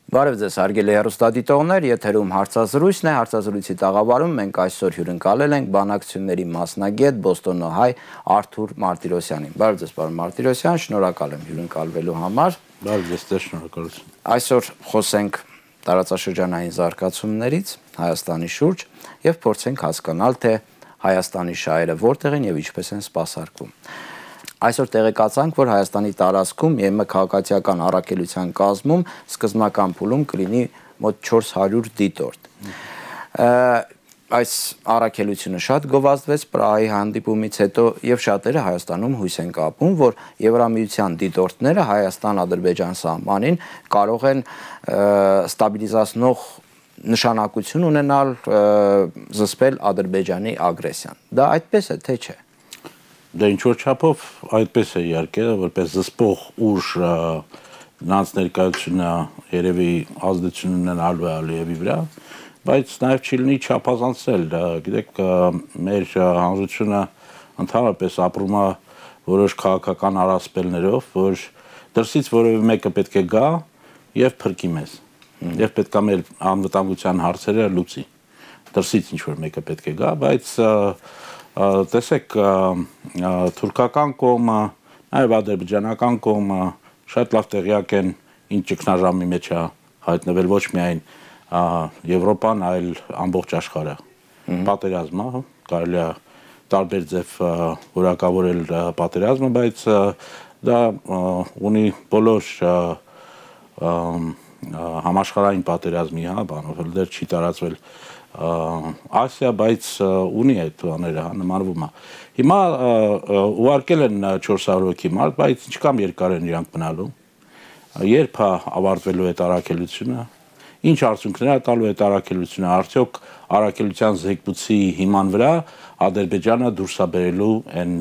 Բարև ձեզ, հարգելի հեռուստադիտողներ, եթերում հարցազրույցն է, հարցազրույցի տաղավարում մենք այսօր հյուրընկալել ենք բանակցությունների մասնագետ Բոստոնահայ Արթուր Մարտիրոսյանին։ Բարև ձեզ, պարոն Մարտիրոսյան, շնորհակալ եմ հյուրընկալվելու համար։ Բարև ձեզ, շնորհակալություն։ Այսօր խոսենք տարածաշրջանային զարգացումներից Հայաստանի շուրջ եւ փորձենք հասկանալ, թե Հայաստանի շահերը որտեղ են եւ ինչպես են սպասարկվում։ Այսօր տեղեկացանք, որ Հայաստանի տարածքում ԵՄ քաղաքացիական առաքելության կազմում սկզբնական փուլում կլինի մոտ 400 դիտորդ։ Այս առաքելությունը շատ գովազդվեց Պրահայի հանդիպումից հետո եւ շատերը Հայաստանում հույս են կապում, որ Եվրամիության դիտորդները Հայաստան-Ադրբեջան սահմանին կարող են ստաբիլիզացնող նշանակություն ունենալ զսպել Ադրբեջանի ագրեսիան։ Դա այդպես է, թե չէ։ Դա ինչ-որ չափով այդպես է իհարկե, որպես զսպող ուժ նրանց ներկայությունը երևի ազդեցություն ունենալու է Ալիևի վրա, բայց նաև չի լինի չափազանցել, գիտեք, մեր հանրությունը ընդհանրապես ապրում է որոշ քաղաքական առասպելներով, որ դրսից որևէ մեկը պետք է գա եւ փրկի մեզ, եւ պետք է մեր անվտանգության հարցերը լուծի։ Դրսից ինչ-որ մեկը պետք է գա, բայց տեսեք, թուրքական կողմը, նաև ադրբեջանական կողմը շատ լավ տեղյակ են ինչ ճգնաժամի մեջ է հայտնվել ոչ միայն Եվրոպան, այլ ամբողջ աշխարհը։ Պատերազմը, կարելի է տարբեր ձև որակավորել պատերազմը, բայց դա ունի բոլոր համաշխարհային պատերազմի, բանով դեռ չի տարածվել Ասիա, բայց ունի այդ բաները, նմանվում է։ Հիմա ուղարկել են 400 հոգի մարդ, բայց ինչքան երկար են իրանք մնալու։ Երբ է ավարտվելու այդ առաքելությունը, ինչ արդյունքներ է տալու այդ առաքելությունը, արդյոք առաքելության զեկույցի հիման վրա Ադրբեջանը դուրս է բերելու այն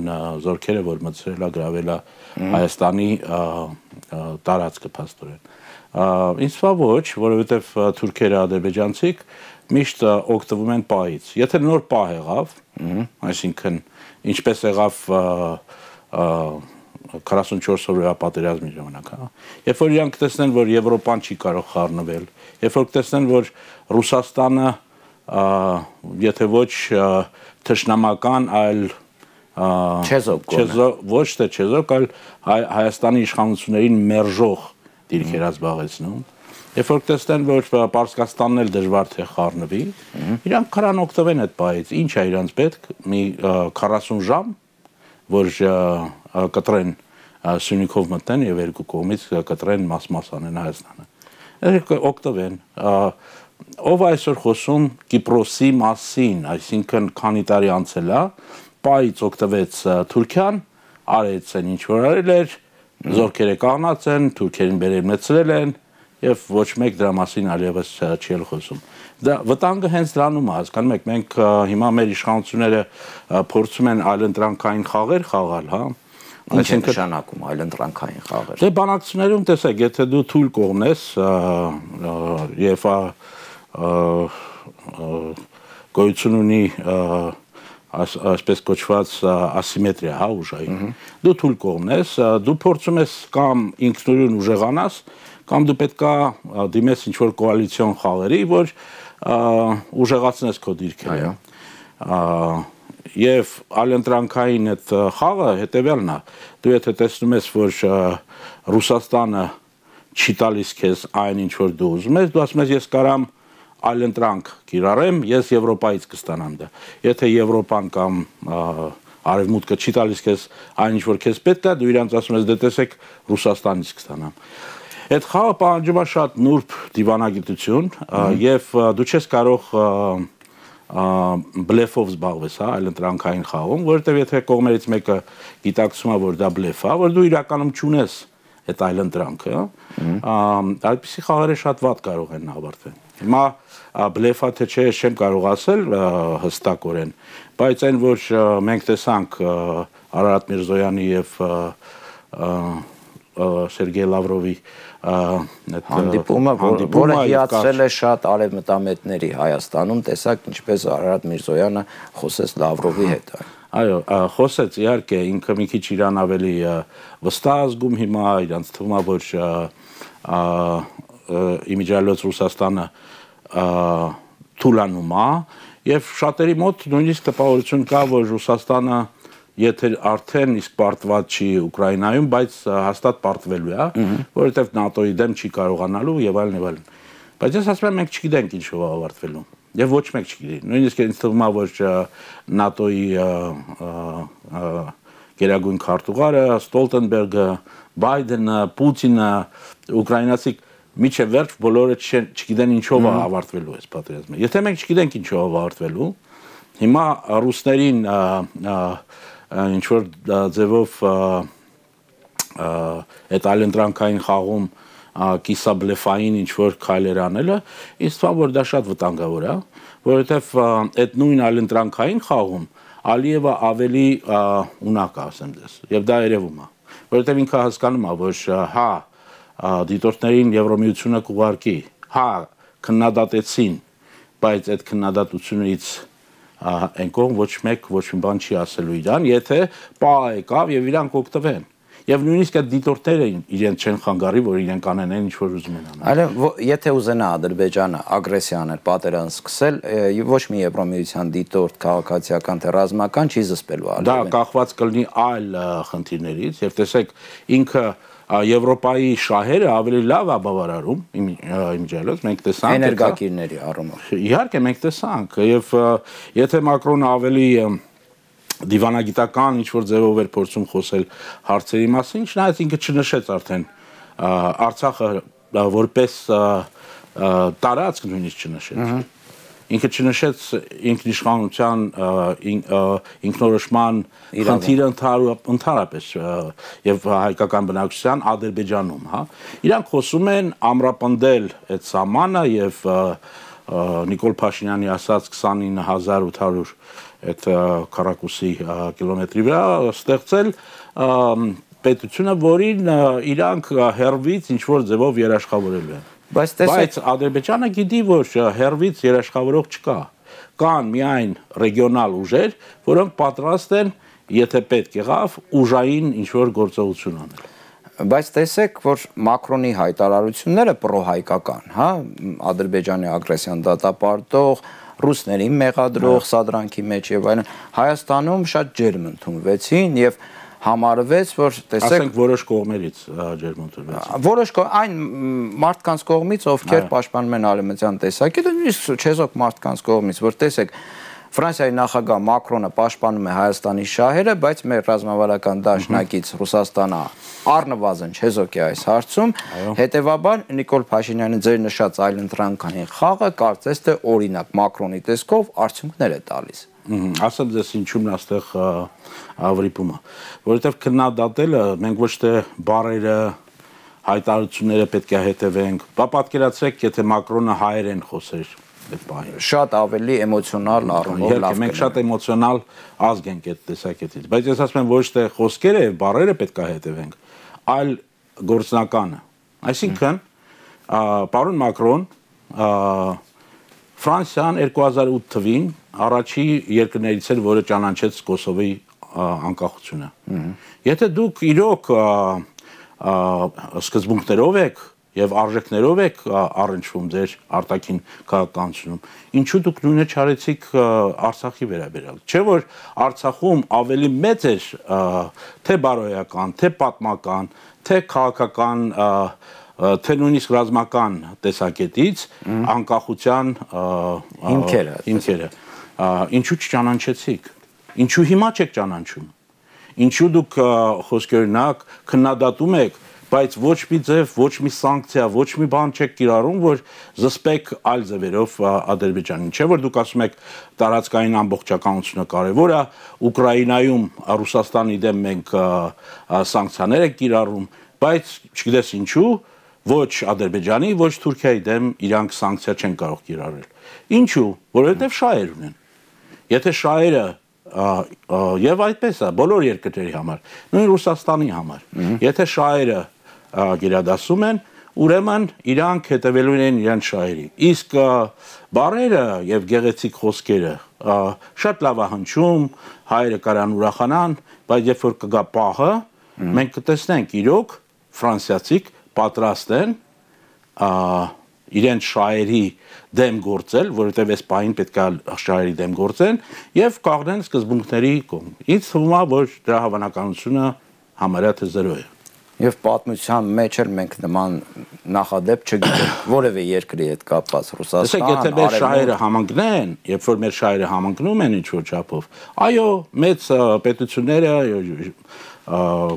զորքերը, որ մտցրել է գրավել է Հայաստանի տարածքը փաստորեն։ Ինձ թվա ոչ, որովհետև թուրքերը ադրբեջանցիք միշտ օգտվում են պահից։ Եթե նոր պահ եղավ, այսինքն ինչպես եղավ 44 օրվա պատերազմի ժամանակ, երբ որ իրանք տեսնեն, որ Եվրոպան չի կարող խառնվել, երբ որ տեսնեն, որ Ռուսաստանը եթե ոչ թշնամական, այլ ոչ թե չեզոք, այլ Հայաստանի իշխանություններին մերժող դիրքեր զբաղեցնում, երբ որ տեսնեն, որ Պարսկաստանն էլ դժվար թե խառնվի, իրանք քարան օգտվեն այդ պահից, ինչ է իրանց պետք, մի 40 ժամ, որ կտրեն Սյունիքով մտնեն եւ երկու կողմից կտրեն մաս-մաս անեն Հայաստանը։ Օգտվեն։ Ով այսօր խոսում Կիպրոսի մասին, այսինքն քանի տարի անցել է, պահից օգտվեց Թուրքիան, արեց այն ինչ որ արել էր, զորքերը կանգնած են, թուրքերին բերել են եւ ոչ մեկ դրա մասին այլևս չի էլ խոսում։ Դա վտանգը հենց դրանում է, հասկանում եք, մենք հիմա մեր իշխանությունները փորձում են այլընտրանքային խաղեր խաղալ, հա։ Ինչ է նշանակում այլընտրանքային խաղեր։ Դե բանակցություններում տեսեք, եթե դու թույլ կողմես եւ գոյություն ունի այսպես կոչված ասիմետրիա, հա, ուժային։ Դու թույլ կողմես, դու փորձում ես կամ ինքնուրույն ուժեղանաս, կամ դու պետքա դիմես ինչ-որ կոալիցիոն խաղերի, որ ուժեղացնես քո դիրքերը։ Եվ այլընտրանքային այդ խաղը հետևյալն է։ Դու եթե տեսնում ես, որ Ռուսաստանը չի տալիս քեզ այն ինչ որ դու ուզում ես, դու ասում ես ես կարամ այլընտրանք կիրառեմ, ես Եվրոպայից կստանամ դա։ Եթե Եվրոպան կամ Արևմուտքը չի տալիս քեզ այն ինչ որ քեզ պետք է, դու իրանց ասում ես դե տեսեք Ռուսաստանից կստանամ։ Այդ խաղը պահանջում է շատ նուրբ դիվանագիտություն եւ դու չես կարող բլեֆով զբաղվես, հա, այլընտրանքային խաղում, որովհետեւ եթե կողմերից մեկը գիտակցում է, որ դա բլեֆ է, որ դու իրականում չունես այդ այլընտրանքը, այդպիսի խաղերը շատ վատ կարող են ավարտվել։ Հիմա բլեֆա թե չէ չեմ կարող ասել հստակորեն, բայց այն որ մենք տեսանք Արարատ Միրզոյանի եւ Սերգեյ Լավրովի հանդիպումը, որը հիացրել է շատ արևմտամետների Հայաստանում, տեսակ ինչպես Արարատ Միրզոյանը խոսեց Լավրովի հետ։ Այո, խոսեց իհարկե, ինքը մի քիչ իրան ավելի վստահ զգում հիմա, իրանց թվում է, որ իմիջիալոց Ռուսաստանը թուլանում է եւ շատերի մոտ նույնիսկ տպավորություն կա, որ Ռուսաստանը եթե արդեն իսկ պարտված չի Ուկրաինայում, բայց հաստատ պարտվելու է, որովհետեւ ՆԱՏՕ-ի դեմ չի կարողանալու եւ այլն եւ այլն։ Բայց ես ասում եմ մենք չգիտենք ինչով է ավարտվելու։ Եվ ոչ մեկ չգիտի։ Նույնիսկ ինձ թվում է, որ ՆԱՏՕ-ի գերագույն քարտուղարը, Ստոլտենբերգը, Բայդենը, Պուտինը, ուկրաինացի միջև վերջ բոլորը չգիտեն ինչով է ավարտվելու այս պատերազմը։ Եթե մենք չգիտենք ինչով է ավարտվելու, հիմա ռուսներին ինչ որ ձևով այդ այլընտրանքային խաղում կիսաբլեֆային ինչ որ քայլեր անելը, ինձ թվում է, որ դա շատ վտանգավոր է, որովհետև այդ նույն այլընտրանքային խաղում Ալիևը ավելի ունակ է, ասեմ դες, եւ դա երևում է, որովհետև ինքը հասկանում է, որ հա դիտորդներին Եվրոմիությունը կուղարկի, հա քննադատեցին, բայց այդ քննադատությունից այն կողմ ոչ մի բան չի ասելու իրան, եթե պա եկավ եւ իրանք օգտվեն։ Եվ նույնիսկ այդ դիտորդները իրենց չեն խանգարի, որ իրենք անեն ինչ որ ուզում են անել։ Այլ եթե ուզենա Ադրբեջանը ագրեսիա անել, պատերազմ սկսել, ոչ մի Եվրոմիության դիտորդ քաղաքացիական թե ռազմական չի զսպելու արել։ Դա կախված կլինի այլ խնդիրներից, եւ տեսեք ինքը Եվրոպայի շահերը ավելի լավ է բավարարում իմիջիալոց, մենք տեսանք էներգակիրների առումով։ Իհարկե մենք տեսանք, եւ եթե Մակրոնը ավելի դիվանագիտական ինչ-որ ձևով էր փորձում խոսել հարցերի մասին, չնայած ինքը չնշեց արդեն Արցախը որպես տարածք նույնիսկ չնշեց։ Ինքը չնշեց ինքնիշխանության ինքնորոշման խնդիրը ընդհանրապես եւ հայկական բնակչության Ադրբեջանում, հա։ Իրանք խոսում են ամրապնդել այդ սահմանը եւ Նիկոլ Փաշինյանի ասած 29800 այդ քառակուսի կիլոմետրի վրա ստեղծել պետությունը, որին իրանք հերվից ինչ որ ձևով երաշխավորելու են։ Բայց Ադրբեջանը գիտի, որ հերվից երաշխավորող չկա։ Կան միայն ռեգիոնալ ուժեր, որոնք պատրաստ են, եթե պետք եղավ, ուժային ինչ որ գործողություն անել։ Բայց տեսեք, որ Մակրոնի հայտարարությունները պրոհայկական, հա, Ադրբեջանի ագրեսիան դատապարտող, ռուսներին մեղադրող սադրանքի մեջ եւ այլն, Հայաստանում շատ ջերմ ընդունվեցին եւ համարվեց, որ տեսեք, ասենք որոշ կողմերից ջերմ ընդունվեցին։ Որոշ այն մարդկանց կողմից, ովքեր պաշտպանում են արևմտյան տեսակետը, նույնիսկ չեզոք մարդկանց կողմից, որ տեսեք Ֆրանսիայի նախագահ Մակրոնը պաշտպանում է Հայաստանի շահերը, բայց մեր ռազմավարական դաշնակից Ռուսաստանը առնվազն չեզոք է այս հարցում, հետևաբար Նիկոլ Փաշինյանը ձեր նշած այլընտրանքային խաղը կարծես թե օրինակ Մակրոնի տեսքով արդյունքներ է տալիս։ Ասեմ ձեզ ինչու՞մն այստեղ վրիպումը, որովհետև քննադատելը մենք ոչ թե բառերը, հայտարարությունները պետք է հետևենք, պատկերացրեք, եթե Մակրոնը հայերեն խոսեր շատ ավելի էմոցիոնալ առումով լավ կլինի։ Մենք շատ էմոցիոնալ ազգ ենք այդ տեսակետից, բայց ես ասում եմ ոչ թե խոսքերը եւ բառերը պետք է հետևենք, այլ գործնականը։ Այսինքն, պարոն Մակրոն, Ֆրանսիան 2008 թվին առաջի երկրներից էր, որը ճանաչեց Կոսովոյի անկախությունը։ Եթե դուք իրոք սկզբունքներով եք եւ արժեքներով եք առնչվում ձեր արտաքին քաղաքականությունում, ինչու դուք նույնը չարեցիք Արցախի վերաբերյալ։ Չէ՞ որ Արցախում ավելի մեծ էր թե բարոյական, թե պատմական, թե քաղաքական, թե նույնիսկ ռազմական տեսակետից անկախության հիմքերը։ Ինչու չճանաչեցիք։ Ինչու հիմա չեք ճանաչում։ Ինչու դուք խոսքերնակ քննադատում եք, բայց ոչ մի ձև, ոչ մի սանկցիա, ոչ մի բան չեք կիրառում, որ զսպեք այլ ձևերով Ադրբեջանին։ Չէ՞ որ դուք ասում եք տարածքային ամբողջականությունը կարևոր է, Ուկրաինայում Ռուսաստանի դեմ մենք սանկցիաներ ենք կիրառում, բայց չգիտես ինչու, ոչ Ադրբեջանի, ոչ Թուրքիայի դեմ իրանք սանկցիա չեն կարող կիրառել։ Ինչու՞, որովհետև շահեր ունեն։ Եթե շահերը եւ այդպես է բոլոր երկրների համար, նույն Ռուսաստանի համար։ Եթե շահերը գերադասում են, ուրեմն իրանք հետևելու են իրենց շահերի։ Իսկ բառերը եւ գեղեցիկ խոսքերը շատ լավ է հնչում, հայերը կարան ուրախանան, բայց երբ որ կգա պահը, մենք կտեսնենք իրոք ֆրանսիացիք պատրաստ են իրենց շահերի դեմ գործել, որովհետև այս պահին պետք է շահերի դեմ գործեն եւ կաղնեն սկզբունքների կողմ։ Ինձ թվում է, որ դրա հավանականությունը համարյա թե 0 է։ Եվ պատմության մեջ էլ մենք նման նախադեպ չգիտենք որևէ երկրի հետ կապված Ռուսաստան, եթե մեր շահերը համընկնեն, երբ որ մեր շահերը համընկնում են ինչ-որ չափով, այո, մեծ պետությունները,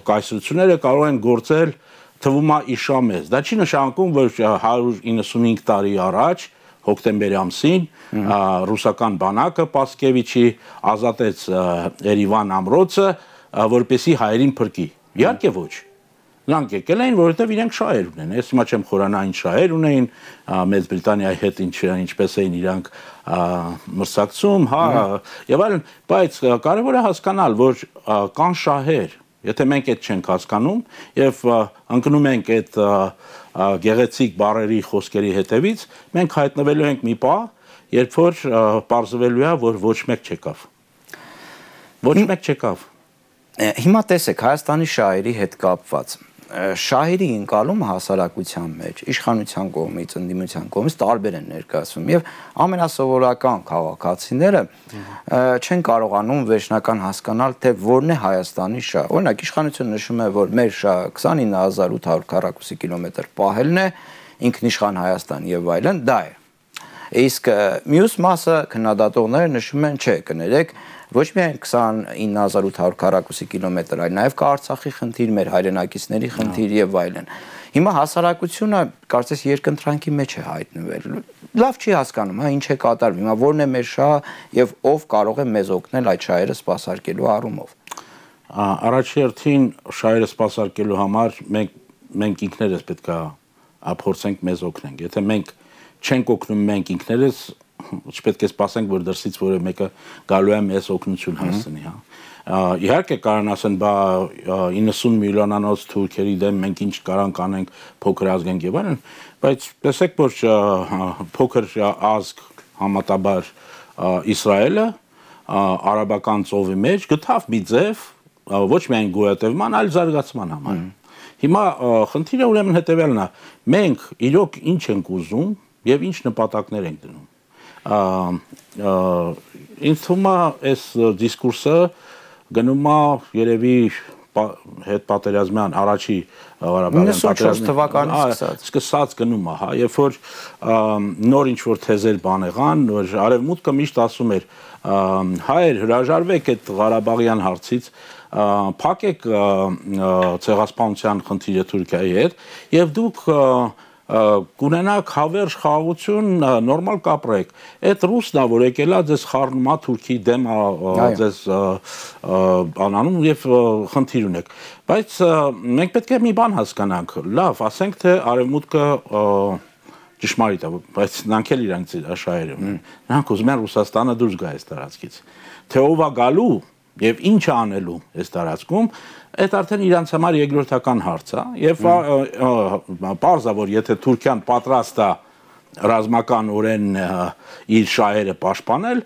կայսրությունները կարող են գործել թվում է իշամեզ։ Դա չի նշանակում, որ 195 տարի առաջ հոկտեմբերի ամսին ռուսական բանակը Պասկևիչի ազատեց Երևան ամրոցը, որպեսի հայերին փրկի։ Իհարկե ոչ։ Նրանք եկել էին, որովհետև իրենք շահեր ունեն։ Ես հիմա չեմ խորանային շահեր ունեին, Մեծ Բրիտանիայի հետ ինչպես էին իրանք մրցակցում, հա, եւ այլն, բայց կարևոր է հասկանալ, որ կան շահեր, եթե մենք այդ չենք հասկանում եւ ընկնում ենք այդ գեղեցիկ բառերի խոսքերի հետևից, մենք հայտնվելու ենք մի պահ, երբ որ պարզվելու է, որ ոչ մեկ չեկավ։ Ոչ մեկ չեկավ։ Հիմա տեսեք Հայաստանի շահերի հետ կապված շահերի ընկալումը հասարակության մեջ իշխանության կողմից, ընդդիմության կողմից տարբեր են ներկայացվում եւ ամենասովորական քաղաքացիները չեն կարողանում վերջնական հասկանալ թե որն է Հայաստանի շահը։ Օրինակ իշխանությունը նշում է, որ մեր շահը 29800 քառակուսի կիլոմետր պահելն է, ինքնիշխան Հայաստան եւ այլն, դա է։ Իսկ մյուս մասը քննադատողները նշում են, չէ, կներեք, ոչ միայն 29800 քառակուսի կիլոմետր, այլ նաև կա Արցախի խնդիր, մեր հայրենակիցների խնդիր եւ այլն։ Հիմա հասարակությունը կարծես երկընտրանքի մեջ է հայտնվել։ Լավ չի հասկանում, հա, ինչ է կատարվում։ Հիմա որն է մեր շահը եւ ով կարող է մեզ օգնել այդ շահերը սպասարկելու առումով։ Առաջի հերթին շահերը սպասարկելու համար մենք ինքներս պետք է փորձենք մեզ օգնենք։ Եթե մենք չենք օգնում մենք ինքներս, չպետք է սպասենք, որ դրսից որևէ մեկը գալու է մեզ օգնություն հասցնի, հա։ Իհարկե կարան ասեն, բա 90 միլիոնանոց թուրքերի դեմ մենք ինչ կարանք անենք, փոքր ազգ ենք եւ այլն, բայց տեսեք, որ փոքր ազգ համատաբար Իսրայելը արաբական ծովի մեջ գտավ մի ձև ոչ միայն գոյատևման, այլ զարգացման համար։ Հիմա խնդիրը ուրեմն հետեւյալն է, մենք իրոք ինչ ենք ուզում եւ ինչ նպատակներ ենք դնում։ Ինձ թվում է այս դիսկուրսը գնում է երևի հետ պատերազմյան առաջի Ղարաբաղյան պատերազմից սկսած գնում է, հա, երբ որ նոր ինչ որ թեզեր բան եղան, որ արևմուտքը միշտ ասում էր հայեր հրաժարվեք այդ Ղարաբաղյան հարցից, փակեք ցեղասպանության խնդիրը Թուրքիայի հետ եւ դուք կունենաք հավերժ խաղաղություն, նորմալ կապրեք։ Այդ ռուսն է, որ եկել է ձեզ խառնում է Թուրքի դեմ, ձեզ անանում եւ խնդիր ունեք։ Բայց մենք պետք է մի բան հասկանանք։ Լավ, ասենք թե արևմուտքը ճշմարիտ է, բայց նրանք էլ իրանք շահերը ունեն։ Նրանք ուզում են Ռուսաստանը դուրս գա այս տարածքից։ Թե ով է գալու եւ ինչ է անելու այս տարածքում, այդ արդեն իրանց համար երկրորդական հարց է եւ պարզ է, որ եթե Թուրքիան պատրաստ է ռազմականորեն իր շահերը պաշտպանել,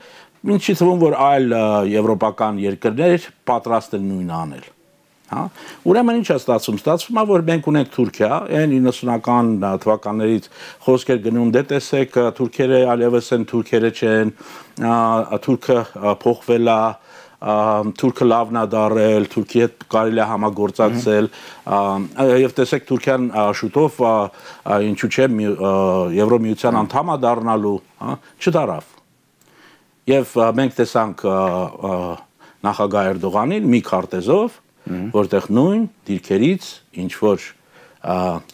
ինչի թվում որ այլ եվրոպական երկրներ պատրաստ են նույնը անել։ Հա, ուրեմն ինչ է ստացվում, ստացվում է, որ մենք ունենք Թուրքիա, այն 90-ական թվականներից խոսքեր գնում, դե տեսեք, թուրքերը այլևս են թուրքերը չեն, թուրքը փոխվել է, Թուրքը լավն է դարել, Թուրքի հետ կարելի է համագործակցել, եւ տեսեք Թուրքիան շուտով ինչու՞ չէ Եվրոմիության անդամ է դառնալու, հա, չդարավ։ Եւ մենք տեսանք նախագահ Էրդողանին մի քարտեզով, որտեղ նույն դիրքերից ինչ որ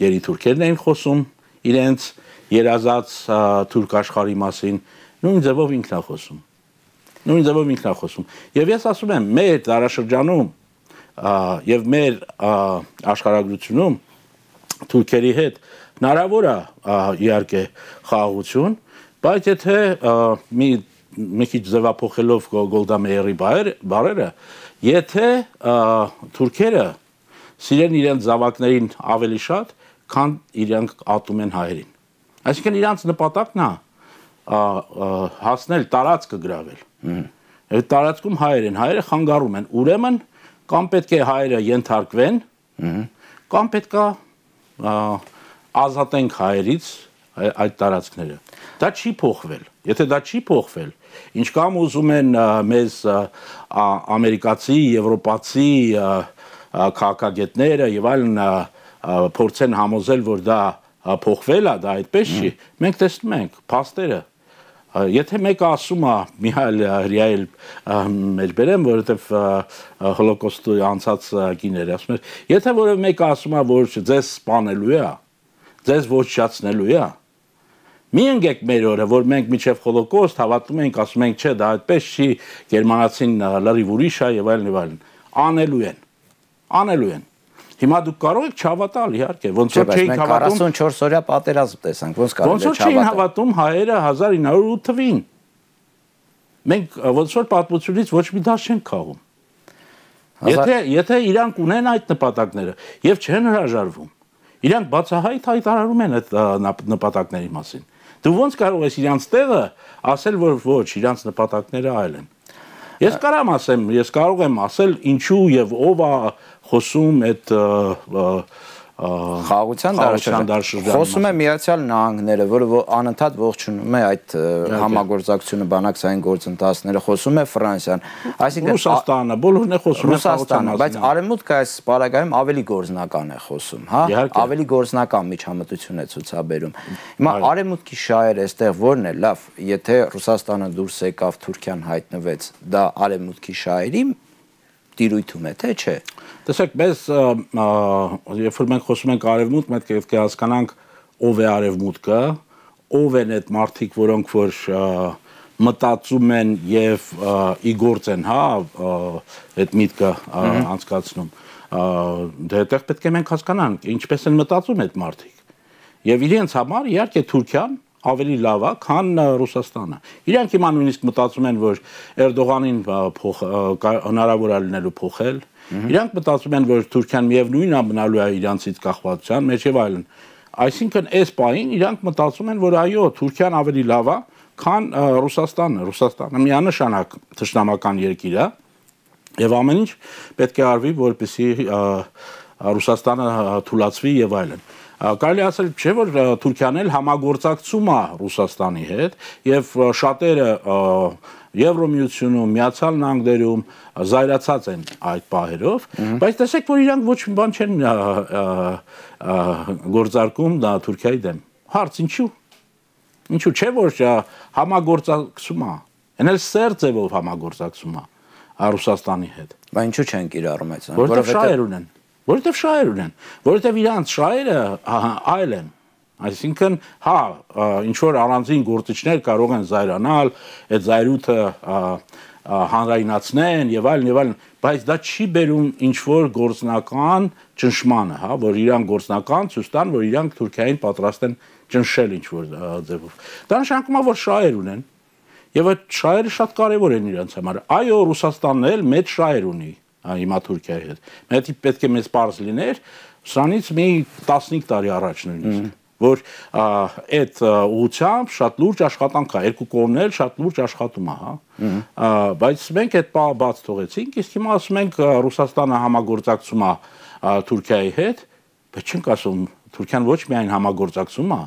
երիտուրքերն էին խոսում իրենց երազած թուրք աշխարհի մասին, նույն ձևով ինքն է խոսում։ Նույն ձևով ինքն է խոսում։ Եվ ես ասում եմ, մեր դարաշրջանում եւ մեր աշխարհագրությունում թուրքերի հետ հնարավոր է իհարկե խաղաղություն, բայց եթե մի քիչ ձևափոխելով Գոլդա Մեյերի բառերը, եթե թուրքերը սիրեն իրենց զավակներին ավելի շատ, քան իրենք ատում են հայերին։ Այսինքն իրանց նպատակն է հասնել տարածքը գրավել։ Այդ տարածքում հայեր են, հայերը խանգարում են, ուրեմն կամ պետք է հայերը ենթարկվեն, կամ պետք է ազատենք հայերից այդ տարածքները։ Դա չի փոխվել։ Եթե դա չի փոխվել, ինչ կամ ուզում են մեզ ամերիկացի, եվրոպացի քաղաքագետները եւ այլն փորձեն համոզել, որ դա փոխվել է, դա այդպես չի, մենք տեսնում ենք փաստերը։ Եթե մեկը ասում է Միհայել Հրիայել մեջ բերեմ, որովհետև հոլոկոստի անցած կիներ ասում էր, եթե որևէ մեկը ասում է, որ ձեզ սպանելու է, ձեզ ոչնչացնելու է, մի ընկեք մեր օրը, որ մենք միջև հոլոկոստ հավատում ենք, ասում ենք, չէ, դա այդպես չի, գերմանացին լրիվ ուրիշ է եւ այլն, անելու են։ Հիմա դուք կարող եք չհավատալ, իհարկե, ոնց որ չէին հավատում 44 օրյա պատերազմ տեսանք, ոնց կարող ոնց որ չէին հավատում հայերը 1908 թվին։ Մենք ոնց որ պատմությունից ոչ մի դաշ չենք քաղում։ Եթե իրանք ունեն այդ նպատակները եւ չեն հրաժարվում, իրանք բացահայտ հայտարարում են այդ նպատակների մասին։ Դու ոնց կարող ես իրանց տեղը ասել, որ ոչ, իրանց նպատակները այլ են։ Ես կարող եմ ասել ինչու եւ ով է խոսում այդ խաղաղության դարաշրջանը։ Խոսում է Միացյալ Նահանգները, որը անընդհատ ողջունում է այդ համագործակցությունը, բանակցային գործընթացները, խոսում է Ֆրանսիան, այսինքն Ռուսաստանը, բոլորն է խոսում Ռուսաստանը, բայց Արևմուտքը այս պարագայում ավելի գործնական է խոսում, հա, ավելի գործնական միջամտություն է ցուցաբերում։ Հիմա Արևմուտքի շահերը այստեղ ո՞րն է, լավ, եթե Ռուսաստանը դուրս եկավ, Թուրքիան հայտնվեց, դա Արևմուտքի շահերի տիրույթում է, թե չէ։ Տեսեք, մեզ երբ որ մենք խոսում ենք արևմուտք, պետք է հասկանանք ով է արևմուտքը, ով են այդ մարդիկ, որոնք որ մտածում են եւ իգործ են, հա, այդ միտքը անցկացնում։ Դե այդտեղ պետք է մենք հասկանանք, ինչպես են մտածում այդ մարդիկ։ Եվ իրենց համար իհարկե Թուրքիան ավելի լավ է, քան Ռուսաստանը։ Իրանք հիմա նույնիսկ մտածում են, որ Էրդողանին հնարավոր է լինելու փոխել։ Իրանք մտածում են, որ Թուրքիան միևնույնն է մնալու է իրանցից կախվածության մեջ եւ այլն։ Այսինքն այս պահին իրանք մտածում են, որ այո, Թուրքիան ավելի լավ է, քան Ռուսաստանը։ Ռուսաստանը միանշանակ թշնամական երկիր է եւ ամեն ինչ պետք է արվի, որպեսզի Ռուսաստանը թուլացվի եւ այլն։ Կարելի ասել չէ, որ Թուրքիան էլ համագործակցում է Ռուսաստանի հետ եւ շատերը Եվրոմիությունում, Միացյալ Նահանգներում զայրացած են այդ պահերով, բայց տեսեք, որ իրանք ոչ մի բան չեն գործարկում դա Թուրքիայի դեմ։ Հարց ինչու։ Ինչու չէ, որ համագործակցում է։ Այն էլ սեր ձևով համագործակցում է Ռուսաստանի հետ։ Բայց ինչու չեն կիրառում այդ։ Որովհետեւ շահեր ունեն։ Որովհետև շահեր ունեն, որովհետև իրանց շահերը այլ են, այսինքն, հա, ինչ-որ առանձին գործիչներ կարող են զայրանալ, այդ զայրույթը հանրայնացնեն եւ այլն, բայց դա չի բերում ինչ-որ գործնական ճնշմանը, հա, որ իրանք գործնական ցույց տան, որ իրանք Թուրքիային պատրաստ են ճնշել ինչ-որ ձևով։ Դա նշանակում է, որ շահեր ունեն, եւ այդ շահերը շատ կարեւոր են իրանց համար։ Այո, Ռուսաստանն էլ մեծ շահեր ունի հիմա Թուրքիայի հետ։ Մենք պետք է մեզ պարզ լիներ, սրանից մի 15 տարի առաջ նույնիսկ, որ այդ ուղղությամբ շատ լուրջ աշխատանք է, երկու կողմն էլ շատ լուրջ աշխատում է, հա։ Բայց մենք այդ բանը բաց թողեցինք, իսկ հիմա ասում ենք Ռուսաստանը համագործակցում է Թուրքիայի հետ, բայց չենք ասում Թուրքիան ոչ միայն համագործակցում է,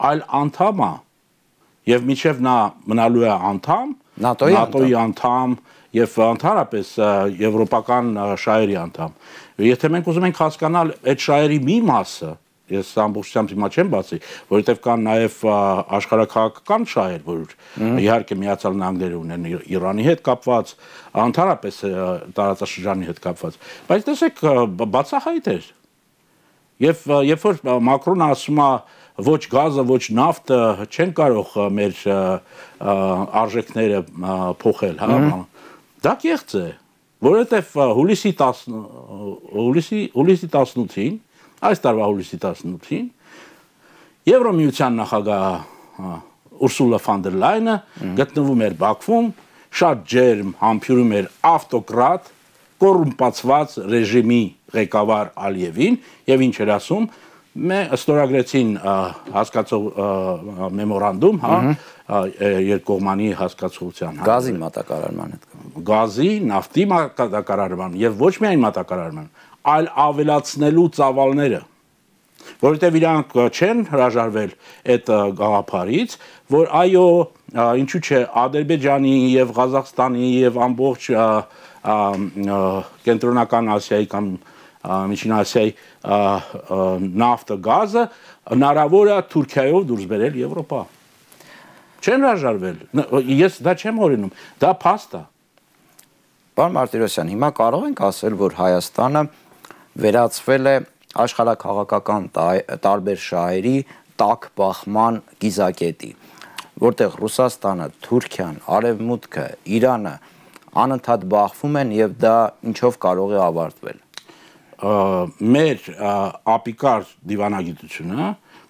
այլ անդամ է։ Եվ մինչև նա մնալու է անդամ, ՆԱՏՕ-ի անդամ եւ ընդհանրապես եվրոպական շահերի անդամ։ Եթե մենք ուզում ենք հասկանալ այդ շահերի մի մասը, ես ամբողջությամբ հիմա չեմ բացի, որովհետեւ կան նաեւ աշխարհակաղակական շահեր, որ իհարկե Միացյալ Նահանգները ունեն Իրանի հետ կապված, ընդհանրապես տարածաշրջանի հետ կապված։ Բայց տեսեք, բացահայտ է։ Եվ երբ որ Մակրոնը ասում է ոչ գազը, ոչ նավթը չեն կարող մեր արժեքները փոխել, հա, դա կեղծ է, որովհետև հուլիսի 18-ին, այս տարվա հուլիսի 18-ին Եվրոմիության նախագահ Ուրսուլա ֆոն դեր Լայնը գտնվում էր Բաքվում, շատ ջերմ համբուրում էր ավտոկրատ, կոռումպացված ռեժիմի ղեկավար Ալիևին եւ ինչ էր ասում, ստորագրեցին հասկացող մեմորանդում, հա, երկկողմանի հասկացության, գազի մատակարարման հետ, գազի, նավթի մատակարարման եւ ոչ միայն մատակարարման, այլ ավելացնելու ծավալները։ որովհետև իրանք չեն հրաժարվել այդ գաղափարից, որ այո, ինչու՞ չէ, Ադրբեջանի եւ Ղազախստանի եւ ամբողջ կենտրոնական Ասիայի կամ Միջին Ասիայի նավթը, գազը հնարավոր է Թուրքիայով դուրս բերել Եվրոպա։ Չեն հրաժարվել։ Ես դա չեմ օրինում, դա փաստ է։ Պարոն Մարտիրոսյան, հիմա կարող ենք ասել, որ Հայաստանը վերածվել է աշխարհաքաղաքական տարբեր շահերի տաք բախման գիզակետի, որտեղ Ռուսաստանը, Թուրքիան, Արևմուտքը, Իրանը անընդհատ բախվում են եւ դա ինչով կարող է ավարտվել։ Մեր ապիկար դիվանագիտությունը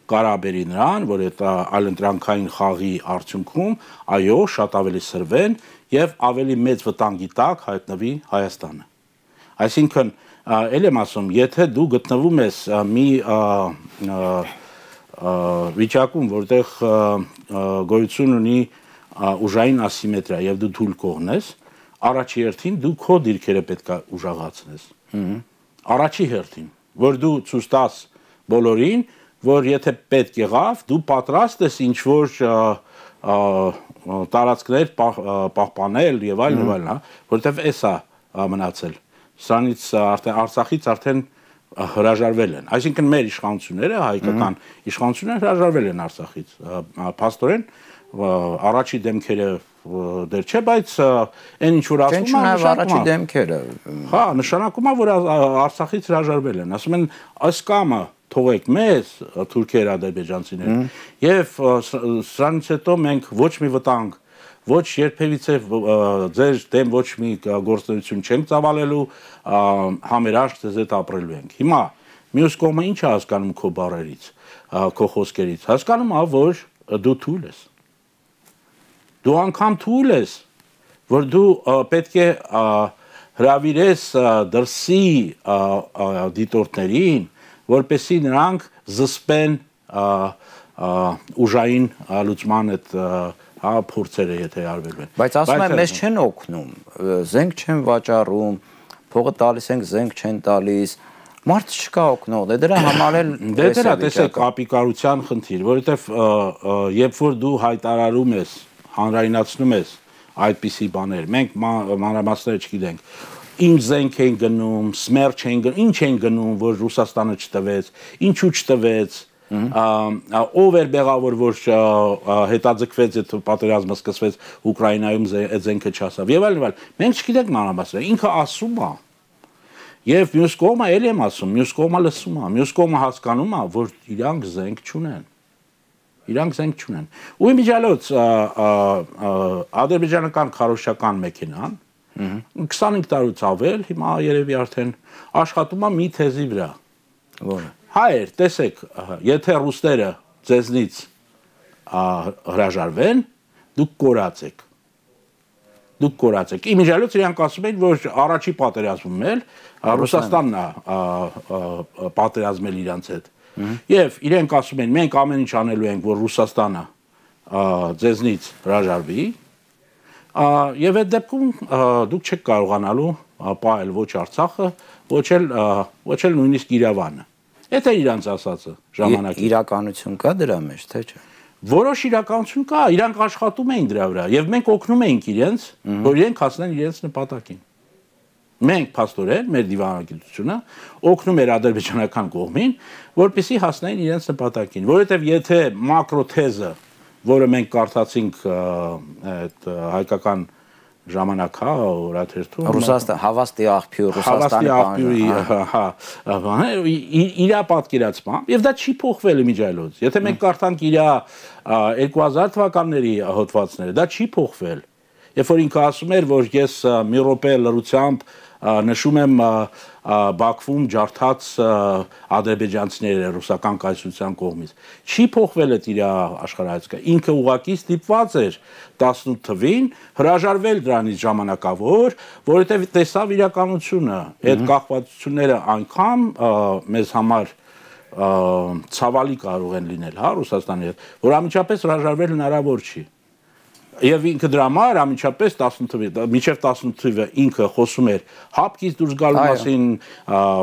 կարաբերի նրան, որ այդ այլընտրանքային խաղի արդյունքում այո, շատ ավելի սրվեն եւ ավելի մեծ վտանգի տակ հայտնվի Հայաստանը։ Այսինքն, ել եմ ասում, եթե դու գտնվում ես մի վիճակում, որտեղ գոյություն ունի ուժային ասիմետրիա եւ դու թույլ կողնես, առաջի հերթին դու քո դիրքերը պետք է ուժեղացնես։ Առաջի հերթին, որ դու ցույց տաս բոլորին, որ եթե պետք եղավ, դու պատրաստ ես ինչ-որ տարածքներ պահպանել եւ այլն, հա, որովհետեւ էսա մնացել։ Սրանից Արցախից արդեն հրաժարվել են։ Այսինքն մեր իշխանությունները, հայկական իշխանությունները հրաժարվել են Արցախից։ Փաստորեն առաջի դեմքերը դեռ չէ, բայց այն ինչ որ ասում են, առաջի դեմքերը։ Հա, նշանակում է, որ Արցախից հրաժարվել են։ Ասում են, այս կամը թողեք մեզ, թուրքեր, ադրբեջանցիներ, եւ սրանից հետո մենք ոչ մի վտանգ, ոչ երբևիցե ձեր դեմ ոչ մի գործունեություն չենք ծավալելու, համերաշխ ձեզ հետ ապրելու ենք։ Հիմա մյուս կողմը ինչ է հասկանում քո բառերից, քո խոսքերից։ Հասկանում է, որ դու թույլ ես։ Դու անգամ թույլ ես, որ դու պետք է հրավիրես դրսի դիտորդներին, որպեսզի նրանք զսպեն ուժային լուծման այդ փորձերը, եթե արվել են։ Բայց ասում են, մեզ չեն օգնում, զենք չեն վաճառում, փողը տալիս ենք, զենք չեն տալիս, մարդ չկա օգնող, դե դրա համար էլ դե դրա տեսեք ապիկարության խնդիր, որովհետև երբ որ դու հայտարարում ես, հանրայնացնում ես այդպիսի բաներ, մենք մանրամասները չգիտենք, ինչ զենք են գնում, սմերջ են գնում, ինչ են գնում, որ Ռուսաստանը չտվեց, ինչու չտվեց, ով էր բեղավոր, որ հետաձգվեց այդ պատերազմը սկսվեց Ուկրաինայում այդ զենքը չասավ եւ այլն, մենք չգիտենք մանրամասները, ինքը ասում է եւ մյուս կողմը էլ եմ ասում, մյուս կողմը լսում է, մյուս կողմը հասկանում է, որ իրանք զենք չունեն։ Իրանք զենք չունեն։ Ու իմիջիալոց ադրբեջանական քարոզչական մեքենան 25 տարուց ավել, հիմա երևի արդեն աշխատում է մի թեզի վրա։ Որը։ Հայեր, տեսեք, եթե ռուսները ձեզնից հրաժարվեն, դուք կորած եք։ Դուք կորած եք։ Իմիջիալոց իրանք ասում են, որ առաջի պատերազմում էլ Ռուսաստանն է պատերազմել իրանց հետ։ Եվ իրենք ասում են, մենք ամեն ինչ անելու ենք, որ Ռուսաստանը ձեզնից հրաժարվի, եւ այդ դեպքում դուք չեք կարողանալու պահել ոչ Արցախը, ոչ էլ նույնիսկ Իրավանը։ Այդ է իրանց ասածը ժամանակին։ Իրականություն կա դրա մեջ, թե չէ։ Որոշ իրականություն կա, իրանք աշխատում էին դրա վրա, եւ մենք օգնում էինք իրենց, որ իրենք հասնեն իրենց նպատակին։ Մենք փաստորեն մեր դիվանագիտությունը օգնում էր ադրբեջանական կողմին, որպեսզի հասնեն իրենց նպատակին, որովհետև եթե մակրոթեզը, որը մենք կարդացինք այդ հայկական ժամանակ, հա, օրաթերթում, Ռուսաստան հավաստի աղբյուր, Ռուսաստանի բանը, իր պատկերացմամբ, եւ դա չի փոխվել իմիջիալոց։ Եթե մենք կարդանք իր 2000 թվականների հոդվածները, դա չի փոխվել։ Երբ որ ինքը ասում էր, որ ես մի րոպե լրությամբ նշում եմ Բաքվում ջարդած ադրբեջանցիները ռուսական կայսրության կողմից։ Չի փոխվել այդ իր աշխարհայացքը։ Ինքը ուղղակի ստիպված էր 18 թվին հրաժարվել դրանից ժամանակավոր, որովհետև տեսավ իրականությունը, այդ կախվածությունները այնքան մեզ համար ցավալի կարող են լինել, հա, Ռուսաստանի հետ, որ անմիջապես հրաժարվել հնարավոր չի։ Եվ ինքը դրա համար ամիջապես 18 թվականին ինքը խոսում էր հապկից դուրս գալու մասին,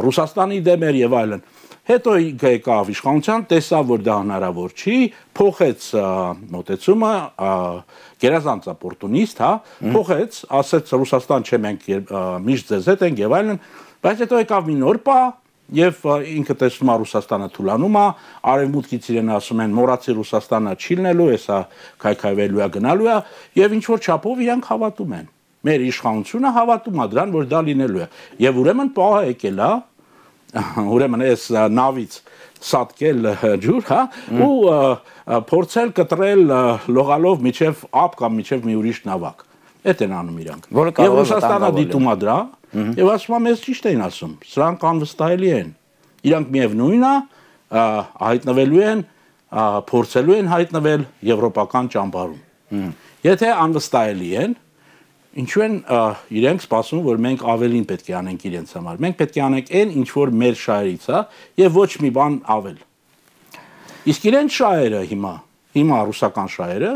Ռուսաստանի դեմ էր եւ այլն։ Հետո ինքը եկավ իշխանության, տեսավ, որ դա հնարավոր չի, փոխեց մոտեցումը, գերազանց օպորտունիստ, հա, փոխեց, ասեց Ռուսաստան չէ, մենք միշտ ձեզ հետ ենք եւ այլն, բայց հետո եկավ մի նոր պահ Եվ ինքը տեսնում է Ռուսաստանը թուլանում է, արևմուտքից իրեն ասում են մոռացի Ռուսաստանը չի լինելու, հեսա քայքայվելու է գնալու է, եւ ինչ որ չափով իրանք հավատում են։ Մեր իշխանությունը հավատում է դրան, որ դա լինելու է։ Եվ ուրեմն պահը եկել է, ուրեմն այս նավից սատկել ջուր, հա, ու փորձել կտրել լողալով միջև ափ կամ միջև մի ուրիշ նավակ։ Այդ են անում իրանք։ Եվ Ռուսաստանը դիտում է դրա Եվ ասում եմ, ես ճիշտ էին ասում, սրանք անվստահելի են, իրանք միևնույն է, հայտնվելու են, փորձելու են հայտնվել եվրոպական ճամբարում։ Եթե անվստահելի են, ինչու են իրենք սպասում, որ մենք ավելին պետք է անենք իրենց համար, մենք պետք է անենք այն, ինչ որ մեր շահերից է, եւ ոչ մի բան ավել։ Իսկ իրենց շահերը հիմա ռուսական շահերը,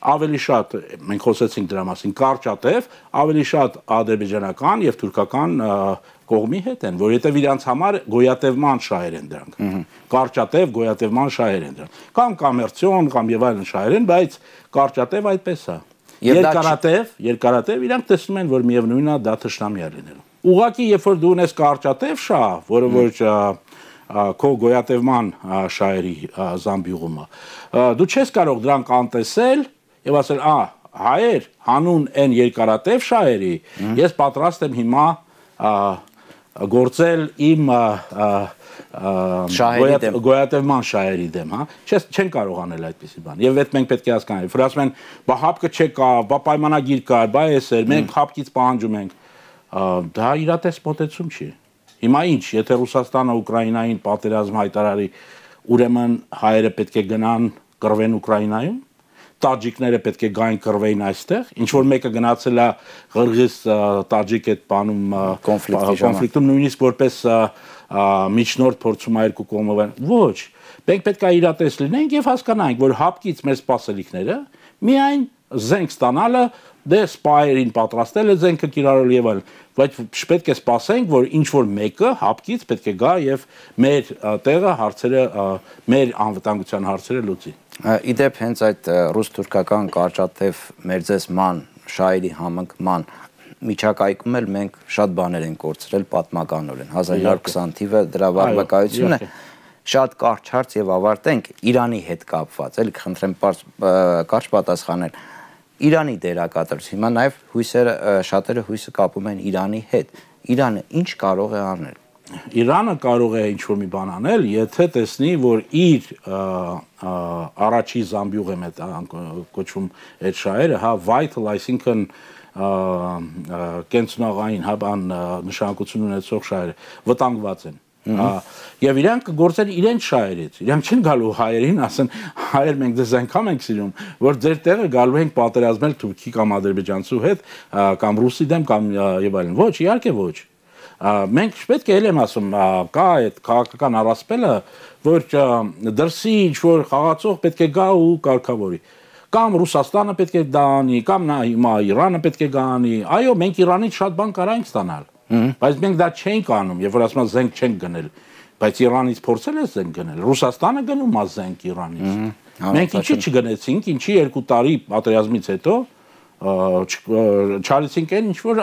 ավելի շատ, մենք խոսեցինք դրա մասին, կարճատև, ավելի շատ ադրբեջանական եւ թուրքական կողմի հետ են, որովհետեւ իրանց համար գոյատևման շահեր են դրանք։ Կարճատև գոյատևման շահեր են դրանք։ Կամ կոմերցիոն, կամ եւ այլն շահեր են, բայց կարճատև այդպես է։ Երկարատև իրանք տեսնում են, որ միևնույնն է դա թշնամի է լինելու։ Ուղղակի երբ որ դու ունես կարճատև շահ, որը որ քո գոյատևման շահերի զամբյուղումը, դու չես կարող դրանք անտեսել եւ ասել, հայեր, հանուն այն երկարատև շահերի, ես պատրաստ եմ հիմա գործել իմ գոյատևման շահերի դեմ, հա, չեն կարող անել այդպիսի բան։ Եվ այդ մենք պետք է հասկանանք, որ ասում են, բա հապկը չկա, բա պայմանագիր կա, բա էս էր, մենք հապկից պահանջում ենք։ Դա իրատես մոտեցում չի։ Հիմա ինչ, եթե Ռուսաստանը Ուկրաինային պատերազմ հայտարարի, ուրեմն հայերը պետք է գնան կռվեն Ուկրաինայում, տաջիկները պետք է գային կռվեին այստեղ, ինչ որ մեկը գնացել է Ղրղիզ տաջիկ այդ բանում կոնֆլիկտում նույնիսկ որպես միջնորդ փորձում է երկու կողմով ոչ, մենք պետք է իրատես լինենք եւ հասկանանք, որ հապկից մեր սպասելիքները միայն զենք ստանալը, դե սպայերին պատրաստել է զենքը կիրառել եւ այլն, բայց պետք է սպասենք, որ ինչ որ մեկը հապկից պետք է գա եւ մեր տեղը հարցերը, մեր անվտանգության հարցերը լուծի։ Իդեպ հենց այդ ռուս-թուրքական կարճատև մերձեսման շահերի համընկման միջակայքում էլ մենք շատ բաներ ենք կորցրել պատմականորեն 1920 թիվը դրա վարկայությունն է շատ կարճ հարց եւ ավարտենք Իրանի հետ կապված էլի խնդրեմ կարճ պատասխանել Իրանի դերակատարություն հիմա նաեւ հույսերը շատերը հույսը կապում են Իրանի հետ Իրանը ինչ կարող է անել Իրանը կարող է ինչ-որ մի բան անել, եթե տեսնի, որ իր առաջի զամբյուղ է կոչվում այդ շահերը, հա, vital, այսինքն կենցնաղային, հա, բան նշանակություն ունեցող շահերը վտանգված են։ Եվ իրանք կգործեն իրենց շահերից, իրանք չեն գալու հայերին, ասեն հայեր մենք դες այնքան ենք սիրում, որ ձեր տեղը գալու ենք պատերազմել թուրքի կամ ադրբեջանցու հետ, կամ ռուսի դեմ կամ եւ այլն։ Ոչ, իհարկե ոչ։ Մենք պետք է եմ ասում, կա այդ քաղաքական առասպելը, որ դրսի ինչ-որ խաղացող պետք է գա ու կարգավորի։ Կամ Ռուսաստանը պետք է դա անի, կամ հիմա Իրանը պետք է գա անի։ Այո, մենք Իրանից շատ բան կարանք ստանալ, բայց մենք դա չենք անում, երբ որ ասում են զենք չենք գնել, բայց Իրանից փորձել է զենք գնել։ Ռուսաստանը գնում է զենք Իրանից։ Մենք ինչի չգնեցինք, ինչի 2 տարի պատերազմից հետո չարեցինք այն ինչ որ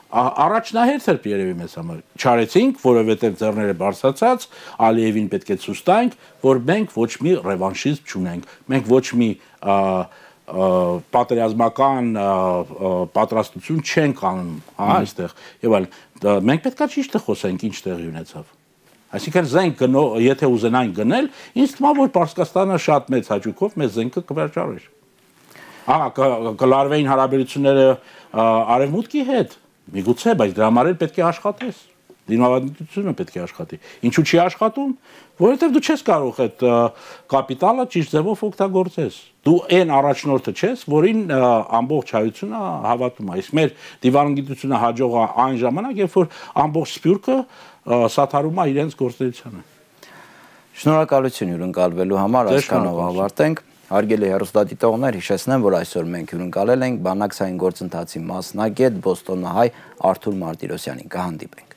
առաջնահերթ էր երևի մեզ համար չարեցինք որովհետև ձեռները բարձրացած Ալիևին պետք է ցույց տանք որ մենք ոչ մի ռևանշիզմ չունենք մենք ոչ մի պատերազմական պատրաստություն չենք անում հա այստեղ եւ այլ մենք պետքա ճիշտը խոսենք ինչ տեղի ունեցավ այսինքն զենք եթե ուզենային գնել ինձ թվում է որ Պարսկաստանը շատ մեծ հաճույքով մեզ զենքը կվաճառեր կլարվեին հարաբերությունները արևմուտքի հետ միգուցե, բայց դրա համար էլ պետք է աշխատես։ Դիմադրությունը պետք է աշխատի։ Ինչու չի աշխատում, որովհետև դու չես կարող այդ կապիտալը ճիշտ ձևով օգտագործես։ Դու այն առաջնորդը չես, որին ամբողջ հայությունը հավատում է։ Իսկ մեր դիվանագիտությունը հաջող է այն ժամանակ, երբ որ ամբողջ սփյուռքը սաթարում է իրենց գործունեությանը։ Շնորհակալություն հյուրընկալվելու համար, այսքանով ավարտենք։ Հարգելի հեռուստադիտողներ, հիշեցնեմ, որ այսօր մենք հյուրընկալել ենք բանակցային գործընթացի մասնագետ Բոստոնահայ Արթուր Մարտիրոսյանին։ Կհանդիպենք։